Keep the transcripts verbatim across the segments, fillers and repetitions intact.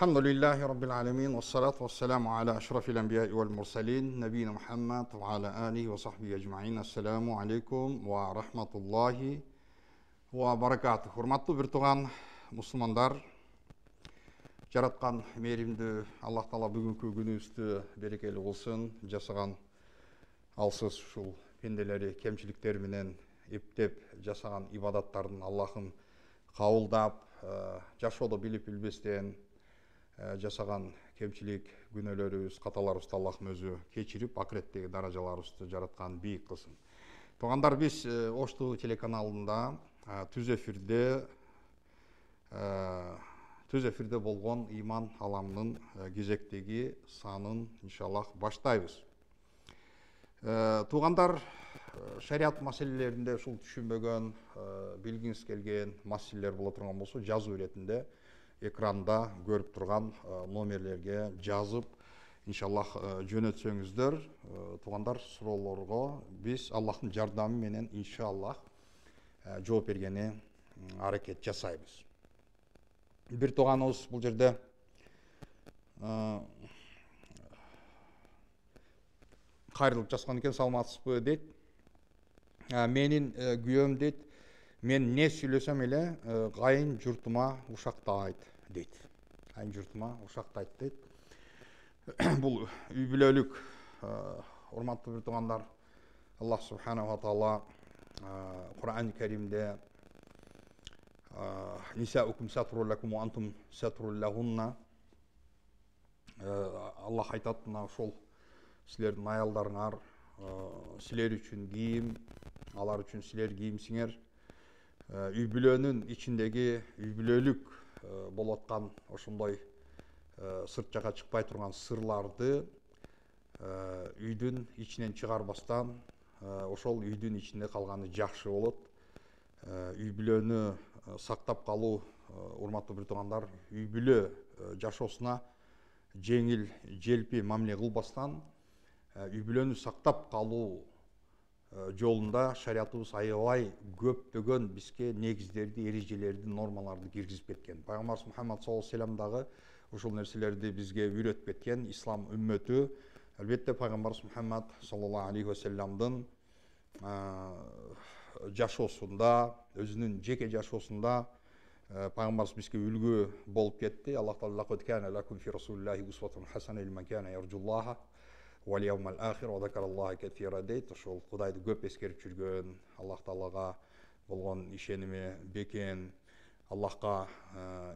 Elhamdülillahi Rabbil alemin. Ve salatu ve selamu ala aşrafil enbiya'i vel mursalin. Nebine Muhammed ve ala alihi ve sahbihi ecma'in. Esselamu aleykum ve rahmatullahi ve barakatuh. Hurmatlı bir tuğan Müslümanlar, jaratkan meyrimdi Allah Taala бүгүнкү күнүбүздү берекелүү болсун. Жасаган алсыз ушул пенделери кемчиликтер менен эптеп жасаган ибадаттардын Аллахым кабылдап, жашоодо билип билбестен жасаган кемчилик күнөөлөрүбүз, каталарыбызды Аллахым өзү кечирип, акыреттеги даражаларыбызды жараткан бийик кылсын. Туугандар, биз Ошту телеканалында түз эфирде түз эфирде болгон иман аламынын кезектеги санын иншаллах баштайбыз. Туугандар, шарият маселелеринде ушул түшүнбөгөн, билгиңиз келген маселелер боло турган болсо, жазуу иретинде экранда көрүп турган номерлерге жазып, иншаллах жөнөтсөңүздөр, туугандар, суроолорго биз Аллахтын жардамы менен иншаллах жооп бергени аракет жасайбыз. Бир тууганыбыз бул жерде кайрылып жазган экен, саламатсызбы дейт. Менин күйөөм дейт, мен не сүйлөсөм эле кайын журтума ушактайт дейт. Кайын журтума ушактайт дейт. Бул үй бүлөлүк, урматтуу бир туугандар, Аллах субханаху ва таала Кур'ан-ы Каримде Нисаукум сатру лакум ва антум сатру лахунна, Аллах айтат, мына ошол силердин аялдарыңар силер үчүн кийим, алар үчүн силер кийимсиңер. Үй бүлөнүн ичиндеги үй бүлөлүк болуп аткан ошондой сырт жака чыкпай турган сырларды үйдүн ичинен чыгарбастан ошол үйдүн ичинде калганы жакшы болот. Үй бүлөнү сактап калуу, урматтуу бир туугандар, үй бүлө жашоосуна жеңил желпи мамиле кылбастан үй бүлөнү сактап калуу жолунда шариятыбыз аябай көптөгөн бизге негиздерди, эрежелерди, нормаларды киргизип кеткен. Пайгамбарыбыз Мухаммад саллаллаху алейхи вассалам дагы ушул нерселерди бизге үйрөтүп кеткен. Ислам үммөтү, албетте, Пайгамбарыбыз Мухаммад саллаллаху алейхи вассаламдын жашоосунда, өзүнүн жеке жашоосунда Пайгамбарыбыз бизге үлгү болуп кетти. Аллах Таала лакад кана лакум фи расулиллахи усватун хасана лиман кана яржуллаха вал яумал ахир ва закараллаха катира дейт. Ошол Кудайды көп эскерип жүргөн, Аллах Таалага болгон ишеними бекен, Аллахка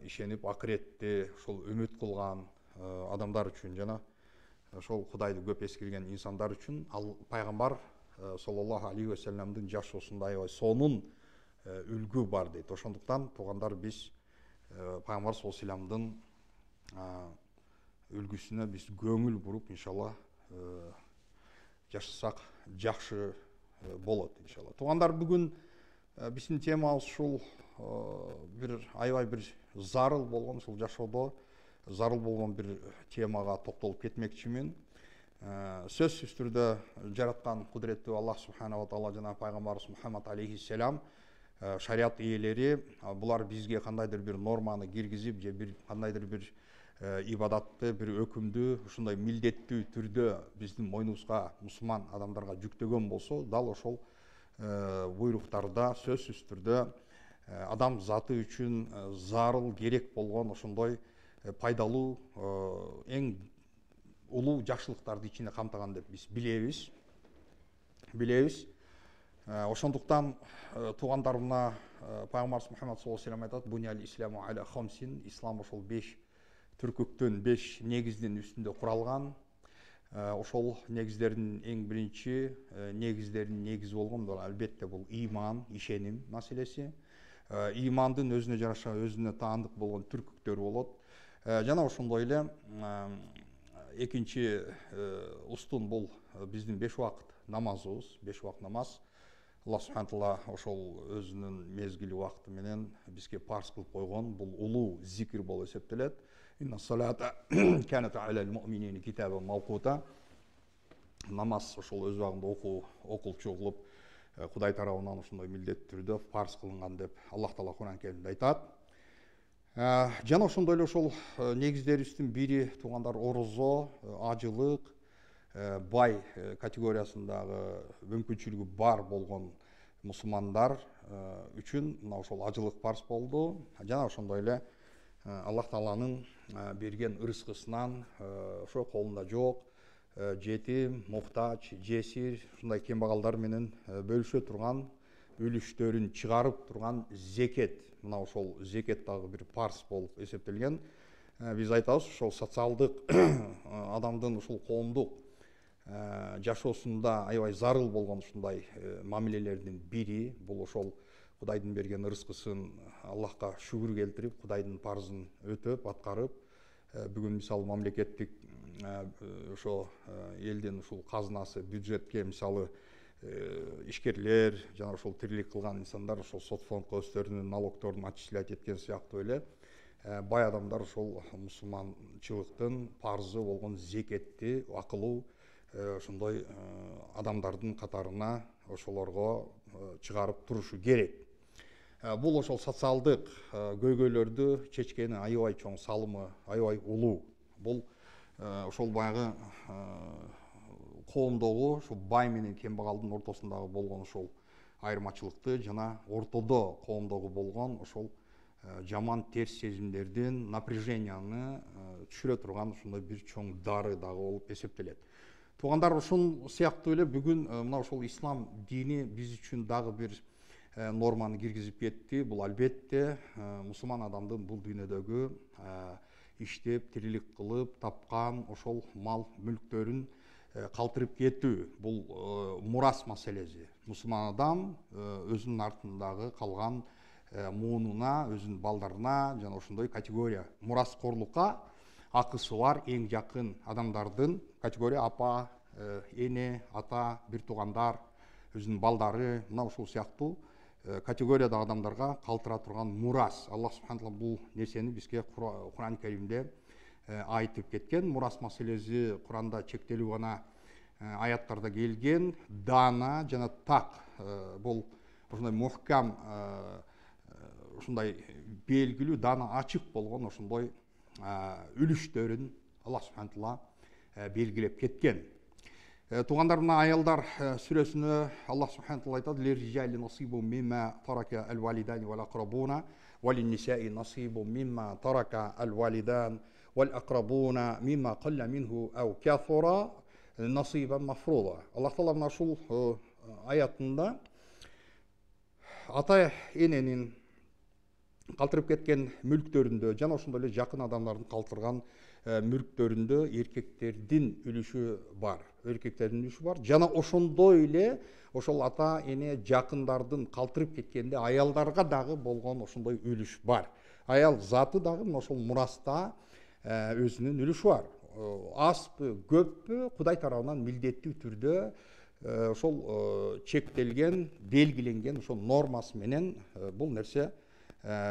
ишенип акыретти ошол үмүт кылган адамдар үчүн жана ошол Кудайды көп эскерген инсандар үчүн ал пайгамбар саллаллаху алейхи вассаламдын жашоосунда аябай сонун үлгү бар дейт. Ошондуктан туугандар, биз пайгамбар саллаллаху алейхи вассаламдын үлгүсүнө биз көңүл буруп, иншалла жашасак жакшы болот, иншалла. Туугандар, бүгүн биздин темабыз ушул бир аябай бир зарыл болгон, ушул жашоодо зарыл болгон бир темага токтолуп кетмекчимин. Сөзсүз түрдө жараткан кудуреттүү Аллах субханаху ва таала жана пайгамбарыбыз Мухаммад алейхиссалам шарият ээлери булар бизге кандайдыр бир норманы киргизип же бир кандайдыр бир ибадатты, бир өкүмдү ушундай милдеттүү түрдө биздин мойнубузга, мусулман адамдарга жүктөгөн болсо, дал ошол буйруктарда сөзсүз түрдө адам заты үчүн зарыл керек болгон ошондой пайдалуу, эң улуу жакшылыктарды ичине камтыган деп биз билебиз. Билебиз. Ошондуктан туугандар, мына пайгамбарыбыз Мухаммад саллаллаху алейхи вассалам айтат: "Бунял исламу аля хамсин", ислам ошол беш түркүктөн, беш негиздин үстүндө куралган. Ошол негиздердин эң биринчи негиздердин негизи болгон бул албетте бул иман, ишеним маселеси. Имандын өзүнө жараша өзүнө таандык болгон түркүктөр болот. Жана ошондой эле экинчи устун бул биздин беш убакыт намазыбыз, беш убакыт намаз. Аллах субхана таала ошол өзүнүн мезгили убакыты менен бизге парз кылып койгон бул улуу зикир болуп эсептелет. Инна салата канат алал муъминина китабан мавкута. Намаз ошол өз убагында окуу окулчу кылып Кудай тарабынан ошондой милдеттүү түрдө парз кылынган деп Аллах Таала Кур'ан Каримде айтат. Жана ошондой эле ошол негиздерибиздин бири туугандар орозо, ажылык, бай категориясындагы мүмкүнчүлүгү бар болгон мусулмандар үчүн мына ошол ажылык парз болду. Жана ошондой эле Аллах Тааланын берген ырыскысынан ошо колунда жок, жетим, муктач, жесир, ушундай кембагалдар менен бөлүшө турган үлүштөрүн чыгарып турган зекет, мына ошол зекет дагы бир парз болуп эсептелген. Биз айтабыз, ошол социалдык адамдын ушул коомдук жашоосунда аябай зарыл болгон ушундай мамилелердин бири бул ошол Кудайдын берген ырыскысын Аллахка шүгүр келтирип, Кудайдын парзын өтөп, аткарып, бүгүн мисалы мамлекеттик ошо элдин ушул казынасы, бюджетке мисалы ишкерлер жана ошол тирилик кылган инсандар ошол сот фондко өздөрүнүн налогторун отчислять эткен сыяктуу эле бай адамдар ошол мусулманчылыктын парзы болгон зекетти акылуу ошондой адамдардын катарына ошолорго чыгарып турушу керек. Бул ошол социалдык көйгөйлөрдү чечкени аябай чоң, салымы аябай улуу. Бул ошол баягы коомдогу ошол бай менен кембагалдын ортосундагы болгон ошол айырмачылыкты жана ортодо коомдогу болгон ошол жаман терс сезимдердин напряженияны түшүрө турган ушундай бир чоң дары дагы болуп эсептелет. Туугандар, ушул сыяктуу эле бүгүн мына ошол ислам дини биз үчүн дагы бир норманы киргизип кетти. Бул албетте мусулман адамдын бул дүйнөдөгү иштеп, тирилик кылып тапкан ошол мал мүлктөрүн калтырып кетүү. Бул мурас маселеси. Мусулман адам өзүнүн артындагы калган муунуна, өзүнүн балдарына жана ошондой категория мураскорлукка акысы бар эң жакын адамдардын категория апа, эне, ата, бир туугандар, өзүнүн балдары, мына ушул сыяктуу категориядагы адамдарга калтыра турган мурас. Аллах субхана таала бул нерсени бизге Куран Каримде айтып кеткен. Мурас маселеси Куранда чектелүү гана аяттарда келген. Дана жана так бул ошондой мухкам, ушундай белгилүү, дана ачык болгон ошондой үлүштөрүн Аллах субхана таала белгилеп кеткен. Туугандар, мына аялдар сүрөсүнө Аллах субхана таала айтат: "Лиржали насибу мимма тарака ал-валидани вал акрабуна, валин-нисаи насибу мимма тарака ал-валидан вал акрабуна мимма қалла минху ау кафура насибан мафруда." Аллах таала мына ушул аятында ата эненин калтырып кеткен мүлктөрүндө жана ошондой эле жакын адамдардын калтырган мүлктөрүндө эркектердин үлүшү бар. Эркектердин үлүшү бар. Жана ошондой эле ошол ата эне жакындардын калтырып кеткенде аялдарга дагы болгон ошондой үлүш бар. Аял заты дагы мына ошол мураста өзүнүн үлүшү бар. Азбы, көппү Кудай тарабынан милдеттүү түрдө ошол чектелген, белгиленген ошол нормасы менен бул нерсе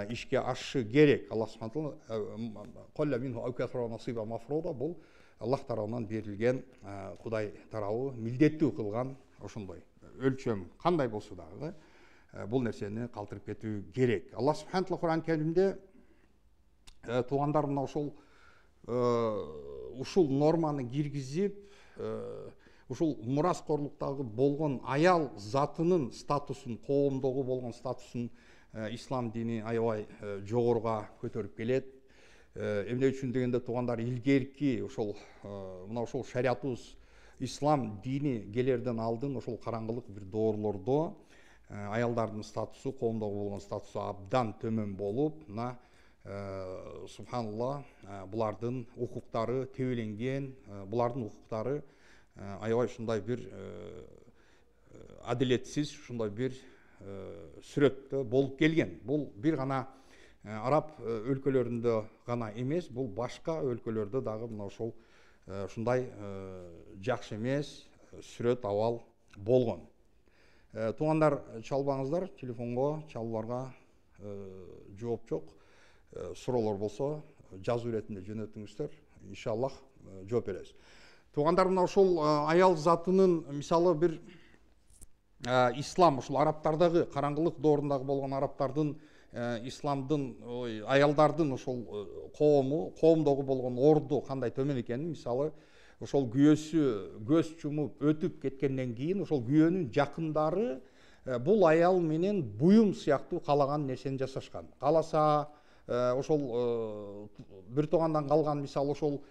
ишке ашышы керек. Аллах субхана таала бул Аллах тарабынан берилген, Кудай тарабы милдеттүү кылган ошондой өлчөм кандай болсо дагы бул нерсени калтырып кетүү керек. Аллах субхана таала Куран Каримде туугандар мына ошол ушул норманы киргизип, ушул мураскорлуктагы болгон аял затынын статусун, коомдогу болгон статусун ислам дини аябай жогоруга көтөрүп келет. Эмне үчүн дегенде туугандар, илгерки ошол мына ошол шариятыбыз ислам дини келерден алдын ошол караңгылык бир доорлордо аялдардын статусу, коомдогу болгон статусу абдан төмөн болуп, мына субханалла булардын укуктары тебеленген, булардын укуктары аябай ушундай бир адилетсиз, ушундай бир сүрөттө болуп келген. Бул бир гана араб өлкөлөрүндө гана эмес, бул башка өлкөлөрдө дагы мына ошол ушундай жакшы эмес сүрөт абал болгон. Туугандар, чалбаңыздар, телефонго чалууларга жооп жок. Суроолор болсо жазуу иретинде жөнөтүңүздөр, иншаллах жооп беребиз. Туугандар, мына ошол аял затынын мисалы бир ислам ушул арабтардагы караңгылык доорундагы болгон арабтардын исламдын аялдардын ошол коому коомдогу болгон орду кандай төмөн экенин мисалы ошол күйөөсү көз жумуп өтүп кеткенден кийин ошол күйөөнүн жакындары бул аял менен буюм сыяктуу каалаган нерсени жасашкан. Кааласа ошол бир туугандан калган мисалы ошол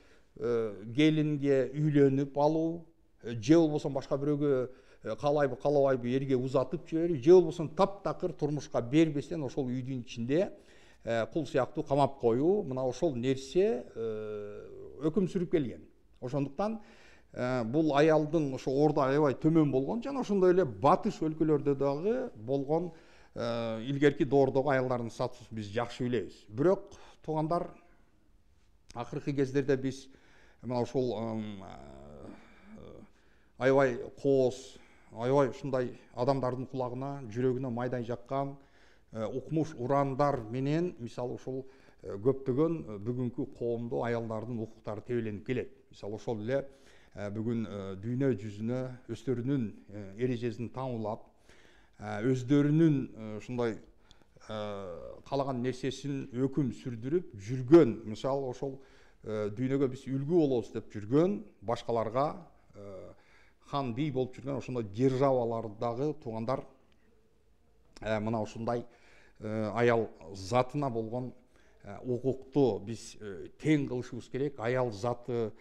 келинге үйлөнүп алуу, же болбосо башка бирөөгө каалайбы каалабайбы эрге узатып жиберип, же болбосо таптакыр турмушка бербестен ошол үйдүн ичинде кул сыяктуу камап коюу, мына ошол нерсе өкүм сүрүп келген. Ошондуктан бул аялдын ошо орду аябай төмөн болгон жана ошондой эле батыш өлкөлөрдө дагы болгон илгерки доордогу аялдардын статусун биз жакшы билебиз. Бирок туугандар, акыркы кездерде биз мына ошол аябай кооз, аябай ушундай адамдардын кулагына, жүрөгүнө майдай жаккан укмуш урандар менен мисалы ошол көптөгөн бүгүнкү коомдо аялдардын укуктары тебеленип келет. Мисалы ошол эле бүгүн дүйнө жүзүнө өздөрүнүн эрежесин таңуулап, өздөрүнүн ушундай каалаган нерсесин өкүм сүрдүрүп жүргөн, мисалы ошол дүйнөгө биз үлгү болобуз деп жүргөн, башкаларга хан бий болуп жүргөн ошондой державалардагы туугандар мына ушундай аял затына болгон укукту биз тең кылышыбыз керек. Аял заты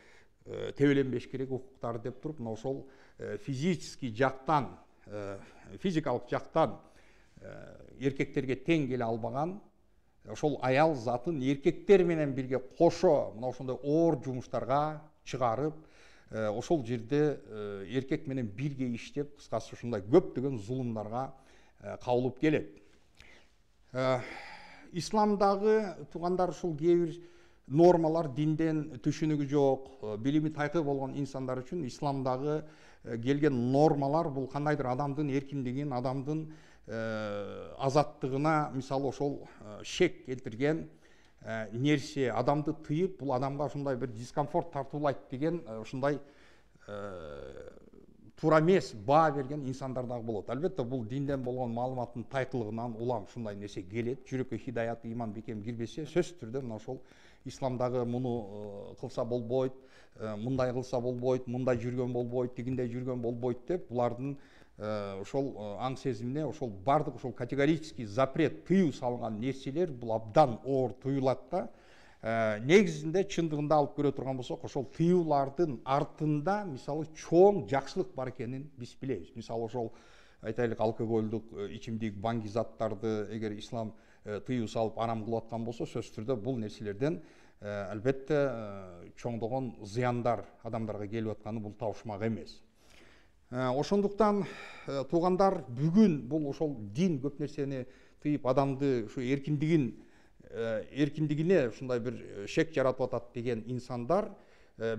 тебеленбеш керек укуктары деп туруп, мына ошол физический жактан, физикалык жактан эркектерге тең келе албаган ошол аял затын эркектер менен бирге кошо мына ошондой оор жумуштарга чыгарып, ошол жерде эркек менен бирге иштеп, кыскасы ушундай көптөгөн зулумдарга кабылып келет. Исламдагы туугандар ушул кээ бир нормалар динден түшүнүгү жок, билими тайкы болгон инсандар үчүн исламдагы келген нормалар бул кандайдыр адамдын эркиндигин, адамдын азаттыгына мисалы ошол шек келтирген нерсе, адамды тыйып, бул адамга ушундай бир дискомфорт тартуулайт деген ушундай туура эмес баа берген инсандар дагы болот. Албетте бул динден болгон маалыматтын тайкылыгынан улам ушундай нерсе келет. Жүрөккө хидаят, иман, бекем кирбесе, сөзсүз түрдө мына ошол исламдагы муну кылса болбойт, мындай кылса болбойт, мындай жүргөн болбойт, тигиндей жүргөн болбойт деп булардын ошол аң сезимине ошол бардык ошол категорический запрет, тыюу салынган нерселер бул абдан оор туюлат да. Негизинде чындыгында алып көрө турган болсок, ошол тыюулардын артында мисалы чоң жакшылык бар экенин биз билебиз. Мисалы ошол айтайлык алкоголдук ичимдик, баңги заттарды эгер ислам тыюу салып арам кылып аткан болсо, сөзсүз түрдө бул нерселерден албетте чоңдогон зыяндар адамдарга келип атканы бул табышмак эмес. Ошондуктан туугандар, бүгүн бул ошол дин көп нерсени тыйып адамды ушу эркиндигин эркиндигине ушундай бир шек жаратып атат деген инсандар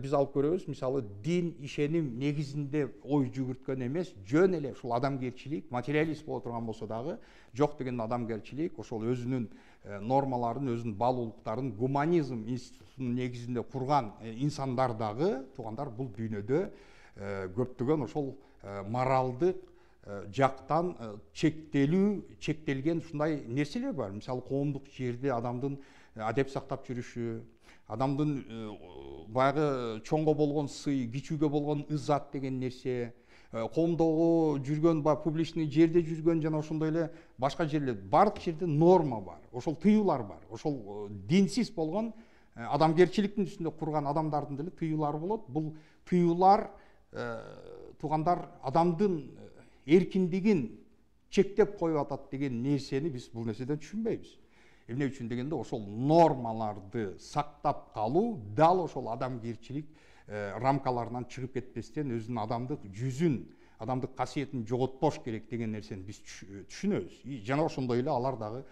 биз алып көрөбүз. Мисалы дин ишеним негизинде ой жүгүрткөн эмес, жөн эле ушул адамгерчилик, материалист боло турган болсо дагы жок деген адамгерчилик, ошол өзүнүн нормаларын, өзүнүн баалуулуктарын гуманизм институтунун негизинде курган инсандар дагы туугандар бул дүйнөдө көптөгөн ошол моралдык жактан чектелүү, чектелген ушундай нерселер бар. Мисалы коомдук жерде адамдын адеп сактап жүрүшү, адамдын баягы чоңго болгон сый, кичүүгө болгон ызат деген нерсе, коомдогу жүргөн, баягы публичный жерде жүргөн жана ошондой эле башка жерлер, бардык жерде норма бар, ошол тыюулар бар. Ошол динсиз болгон адамгерчиликтин үстүндө курган адамдардын деле тыюулары болот. Бул тыюулар туугандар адамдын эркиндигин чектеп коюп атат деген нерсени биз бул нерседен түшүнбөйбүз. Эмне үчүн дегенде ошол нормаларды сактап калуу дал ошол адамгерчилик рамкаларынан чыгып кетпестен өзүнүн адамдык жүзүн, адамдык касиетин жоготпош керек деген нерсени биз түшүнөбүз. Жана ошондой эле алар дагы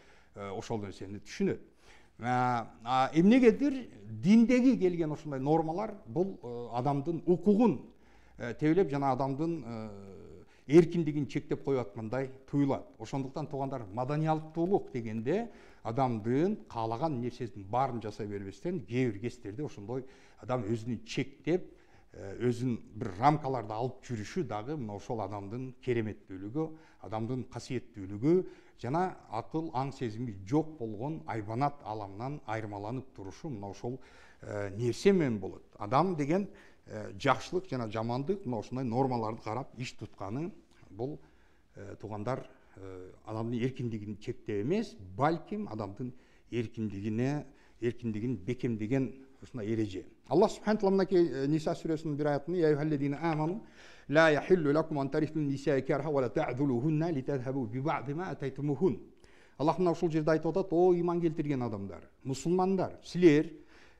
ошол нерсени түшүнөт. Эмнегедир диндеги келген ошондой нормалар бул адамдын укугун тебелеп жана адамдын эркиндигин чектеп коюп аткандай туюлат. Ошондуктан туугандар, маданиялыктуулук дегенде адамдын каалаган нерсесин баарын жасай бербестен, кээ бир кездерде ошондой адам өзүн чектеп, өзүн бир рамкаларда алып жүрүшү дагы мына ошол адамдын кереметтүүлүгү, адамдын касиеттүүлүгү жана акыл аң сезими жок болгон айбанат аламынан айырмаланып турушу мына ошол нерсе менен болот. Адам деген жакшылык жана жамандык мына ушундай нормаларды карап иш тутканы бул туугандар адамдын эркиндигин чектөө эмес, балким адамдын эркиндигине эркиндигин бекемдеген ушундай эреже. Аллах субхана таала мынакей Ниса сүрөсүнүн бир аятында я юхаллазина аману ла яхиллу лакум ан тарифу нисаа карха ва ла та'дулухунна литадхабу би ба'ди ма атайтумухун. Аллах мына ушул жерде айтып атат: "О иман келтирген адамдар, мусулмандар, силер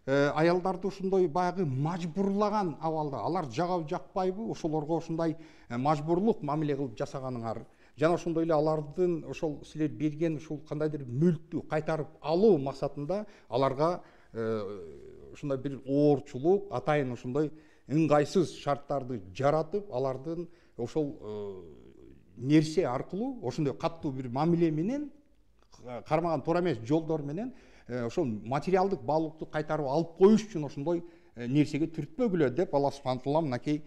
аялдарды ушундай баягы мажбурлаган абалда, алар жагабы жакпайбы, ошолорго ушундай мажбурлук мамиле кылып жасаганыңар, жана ошондой эле алардын ошол силер берген ушул кандайдыр мүлктү кайтарып алуу максатында аларга ушундай бир оорчулук, атайын ушундай ыңгайсыз шарттарды жаратып, алардын ошол нерсе аркылуу ошондой каттуу бир мамиле менен, кармаган туура эмес жолдор менен ошол материалдык баалуулукту кайтарып алып коюш үчүн ошондой нерсеге түртпөгүлө деп Аллах субхана таала мынакей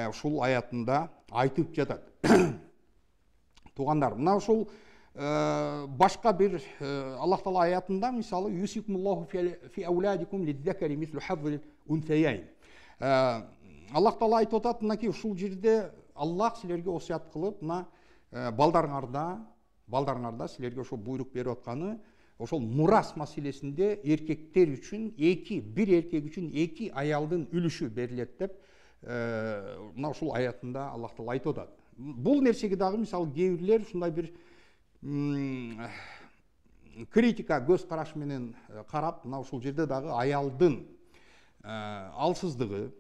ушул аятында айтып жатат. Туугандар, мына ушул башка бир Аллах таала аятында мисалы юсикумуллаху фи ауладикум лидзакари мислу хаззил унсаяйн. Аллах таала айтып атат мынакей ушул жерде Аллах силерге осуят кылып, мына балдарыңарда, балдарыңарда силерге ошол буйрук берип атканы ошол мурас маселесинде эркектер үчүн эки, бир эркек үчүн эки аялдын үлүшү берилет деп мына ушул аятында Аллах таала айтып атат. Бул нерсеге дагы мисалы кээ бирлер ушундай бир критика көз караш менен карап, мына ушул жерде дагы аялдын алсыздыгы,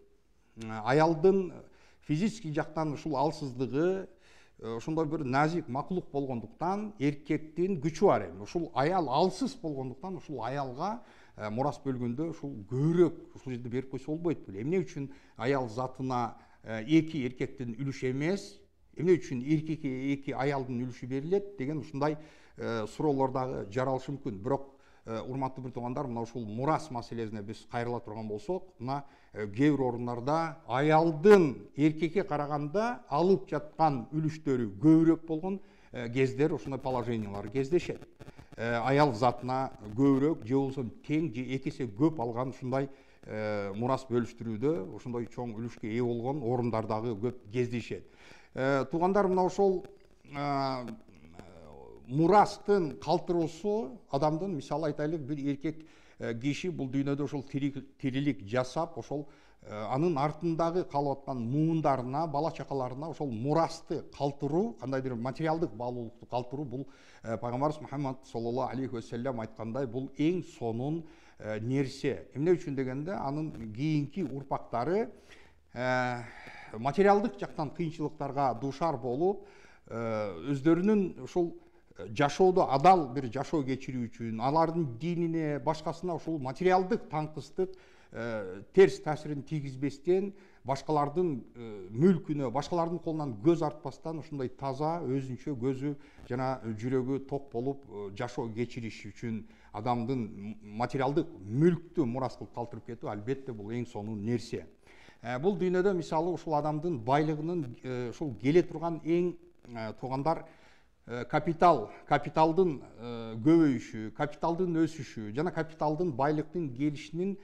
аялдын физический жактан ушул алсыздыгы ошондой бир назик макулук болгондуктан эркектин күчү бар эми. Ушул аял алсыз болгондуктан ушул аялга мурас бөлгөндө ушул көбүрөөк ушул жерде берип койсо болбойт беле. Эмне үчүн аял затына эки эркектин үлүшү эмес, эмне үчүн эркекке эки аялдын үлүшү берилет деген ушундай суроолор дагы жаралышы мүмкүн. Бирок урматтуу бир туугандар, мына ушул мурас маселесине биз кайрыла турган болсок, мына кээ бир орундарда аялдын эркекке караганда алып жаткан үлүштөрү көбүрөөк болгон кездер, ошондой положениялар кездешет. Аял затына көбүрөөк же болбосо тең же эки эсе көп алган ушундай мурас бөлүштүрүүдө ошондой чоң үлүшкө ээ болгон орундар дагы көп кездешет. Туугандар, мына ошол мурастын калтыруусу адамдын, мисалы айтайлык, бир эркек киши бул дүйнөдө ошол тирилик жасап, ошол анын артындагы калып аткан муундарына, бала чакаларына ошол мурасты калтыруу, кандайдыр материалдык баалуулукту калтыруу, бул пайгамбарыбыз Мухаммад саллаллаху алейхи ва саллям айткандай, бул эң сонун нерсе. Эмне үчүн дегенде, анын кийинки урпактары материалдык жактан кыйынчылыктарга дуушар болуп, өздөрүнүн ушул жашоодо адал бир жашоо кечирүү үчүн, алардын динине, башкасына ушул материалдык таңкыстык терс таасирин тийгизбестен, башкалардын мүлкүнө, башкалардын колунан көз артпастан ушундай таза, өзүнчө көзү жана жүрөгү ток болуп жашоо кечириш үчүн адамдын материалдык мүлктү мурас кылып калтырып кетүү, албетте бул эң сонун нерсе. Бул дүйнөдө мисалы ушул адамдын байлыгынын ушул келе турган эң туугандар капитал, капиталдын көбөйүшү, капиталдын өсүшү жана капиталдын байлыктын келишинин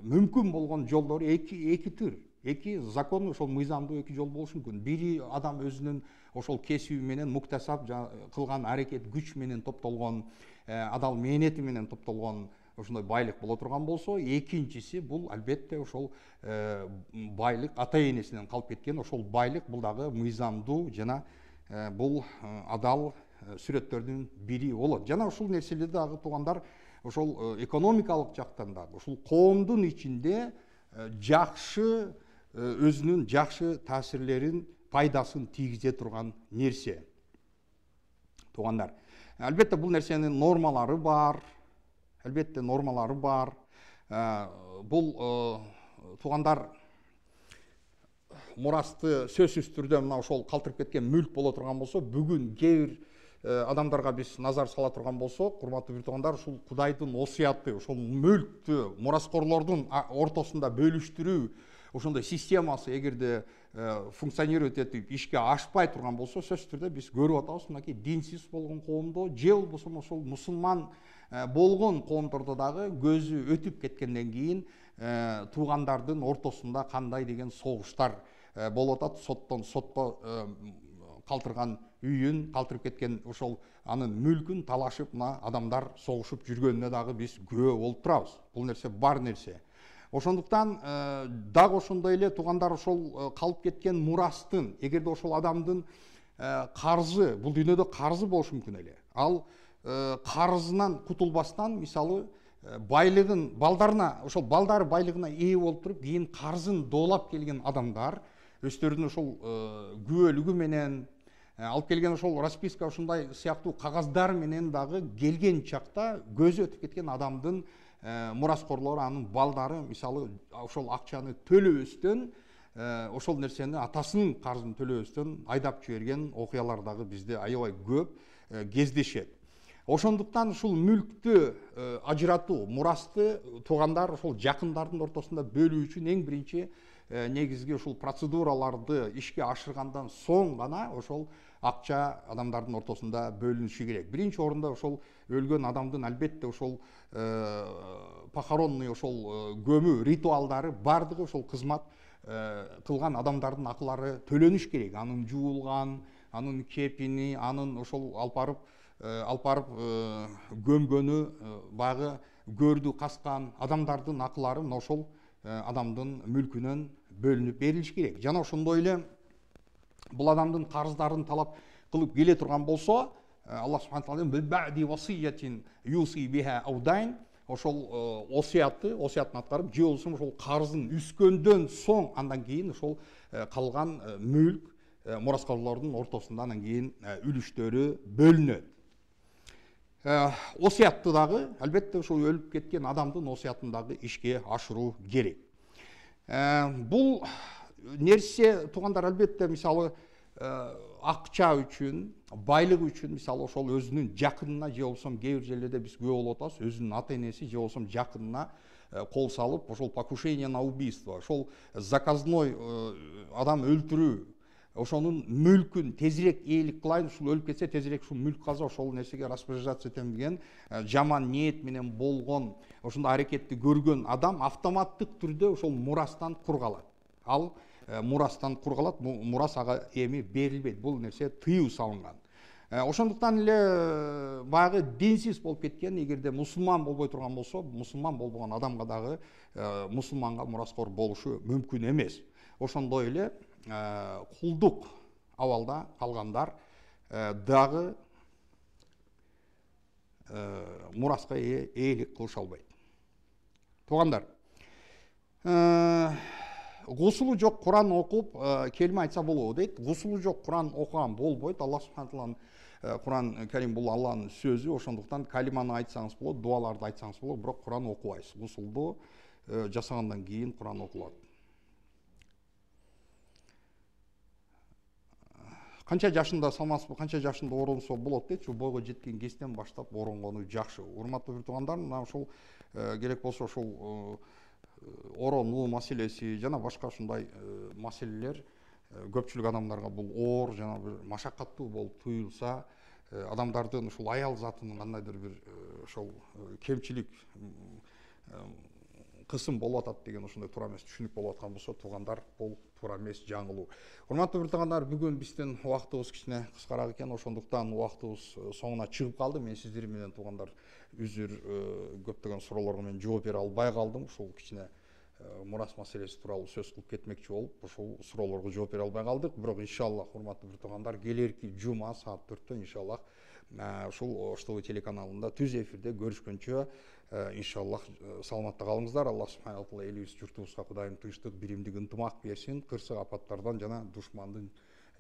мүмкүн болгон жолдору эки эки түр. Эки закон, ошол мыйзамдуу эки жол болушу мүмкүн. Бири адам өзүнүн ошол кесиби менен муктасап кылган аракет күч менен топтолгон, адал мээнети менен топтолгон ошондой байлык боло турган болсо, экинчиси бул албетте ошол байлык ата энесинен калып кеткен ошол байлык, бул дагы мыйзамдуу жана бул адал сүрөттөрдүн бири болот. Жана ушул нерселерди дагы туугандар ошол экономикалык жактан дагы ушул коомдун ичинде жакшы өзүнүн жакшы таасирлерин, пайдасын тийгизе турган нерсе. Туугандар, албетте бул нерсенин нормалары бар. Албетте нормалары бар. Бул туугандар мурасты сөзсүз түрдө мына ошол калтырып кеткен мүлк боло турган болсо, бүгүн кээ бир адамдарга биз назар сала турган болсок, урматтуу бир туугандар, ушул Кудайдын осуяты, ошол мүлктү мураскорлордун ортосунда бөлүштүрүү, ошондой системасы эгерде функционировать этип ишке ашпай турган болсо, сөзсүз түрдө биз көрүп атабыз, мынакей динсиз болгон коомдо же болбосо ошол мусулман болгон коомдордо дагы көзү өтүп кеткенден кийин туугандардын ортосунда кандай деген согуштар болуп атат. Соттон сотко калтырган үйүн, калтырып кеткен ошол анын мүлкүн талашып мына адамдар согушуп жүргөнүнө дагы биз күбө болуп турабыз. Бул нерсе бар нерсе. Ошондуктан дагы ошондой эле туугандар ошол калып кеткен мурастын, эгерде ошол адамдын карзы, бул дүйнөдө карзы болушу мүмкүн эле. Ал карызынан кутулбастан, мисалы, байлыгын балдарына, ошол балдары байлыгына ээ болуп туруп, кийин карзын доолап келген адамдар өздөрүнүн ошол күбөлүгү менен алып келген ошол расписка ушундай сыяктуу кагаздар менен дагы келген чакта көзү өтүп кеткен адамдын мураскорлору, анын балдары мисалы ошол акчаны төлөбөстөн, ошол нерсени атасынын карзын төлөбөстөн айдап жиберген окуялар дагы бизде аябай көп кездешет. Ошондуктан ушул мүлктү ажыратуу, мурасты туугандар ошол жакындардын ортосунда бөлүү үчүн эң биринчи негизги ушул процедураларды ишке ашыргандан соң гана ошол акча адамдардын ортосунда бөлүнүшү керек. Биринчи орунда ошол өлгөн адамдын албетте ошол похоронный ошол көмүү ритуалдары бардыгы ошол кызмат кылган адамдардын акылары төлөнүш керек. Анын жуулган, анын кепини, анын ошол алып барып алып барып көмгөнү, багы көрдү каскан адамдардын акылары мына ошол адамдын мүлкүнөн бөлүнүп берилиш керек. Жана ошондой эле бул адамдын карыздарын талап кылып келе турган болсо, Аллах субханаху ва таала васиятин юси биха аудайн, ошол осуятты, осуятын аткарып, же болбосо ошол карызын үскөндөн соң андан кийин ошол калган мүлк мураскорлордун ортосунда анан кийин үлүштөрү бөлүнөт. Осуятты дагы албетте ошол өлүп кеткен адамдын осуятын дагы ишке ашыруу керек. Бул нерсе туугандар албетте мисалы акча үчүн, байлык үчүн, мисалы ошол өзүнүн жакынына, же болбосо кээ бир жерлерде биз күбө болуп атабыз, өзүнүн ата энеси же болбосо жакынына кол салып, ошол покушение на убийство, ошол заказной адам өлтүрүү, ошонун мүлкүн тезирээк ээлик кылайын, ушул өлүп кетсе тезирээк ушул мүлк каза, ошол нерсеге распоряжаться этем деген жаман ниет менен болгон ошондой аракетти көргөн адам автоматтык түрдө ошол мурастан кур калат. Ал мурастан кур калат, мурас ага эми берилбейт. Бул нерсе тыюу салынган. Ошондуктан эле баягы динсиз болуп кеткен, эгерде мусулман болбой турган болсо, мусулман болбогон адамга дагы мусулманга мураскор болушу мүмкүн эмес. Ошондой эле кулдук абалда калгандар дагы мураска ээлик кылыша албайт. Туугандар, гусулу жок Куран окуп келме айтса болобу дейт. Гусулу жок Куран окуган болбойт. Аллах субханаху Куран Карим бул Алланын сөзү, ошондуктан калиманы айтсаңыз болот, дуаларды айтсаңыз болот, бирок Куран окубайсыз. Гусулду жасагандан кийин Куран окулат. Канча жашында салмасызбы, канча жашында оронсо болот дейт. Ушу бойго жеткен кезден баштап оронгону жакшы. Урматтуу бир туугандар, мына ушул керек болсо ушул оронуу маселеси жана башка ушундай маселелер көпчүлүк адамдарга бул оор жана бир машакаттуу болуп туюлса, адамдардын ушул аял затынын кандайдыр бир ошол кемчилик кысым болуп атат деген ошондой туура эмес түшүнүк болуп аткан болсо, туугандар, бул туура эмес, жаңылуу. Урматтуу бир туугандар, бүгүн биздин убактыбыз кичине кыскараак экен, ошондуктан убактыбыз соңуна чыгып калды. Мен сиздер менен туугандар үзүр көптөгөн суроолорго мен жооп бере албай калдым. Ушул кичине мурас маселеси тууралуу сөз кылып кетмекчи болуп, ушул суроолорго жооп бере албай калдык. Бирок иншаллах, урматтуу бир туугандар, келерки жума саат төрттө иншаллах ушул Ош ТВ телеканалында түз эфирде көрүшкөнчө иншаллах саламатта калыңыздар. Аллах субханаху ва таала элибиз, журтубузга Кудайым тынчтык, биримдик, ынтымак берсин. Кырсык апаттардан жана душмандын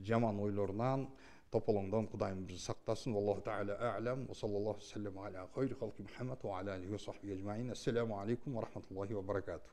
жаман ойлорунан, тополоңдон Кудайым бизди сактасын. Аллаху таала а'лам. Ва саллаллаху саллям аля хайри халки Мухаммад ва аля алихи ва сахбихи ажмаин. Ассаламу алейкум ва рахматуллахи ва баракатух.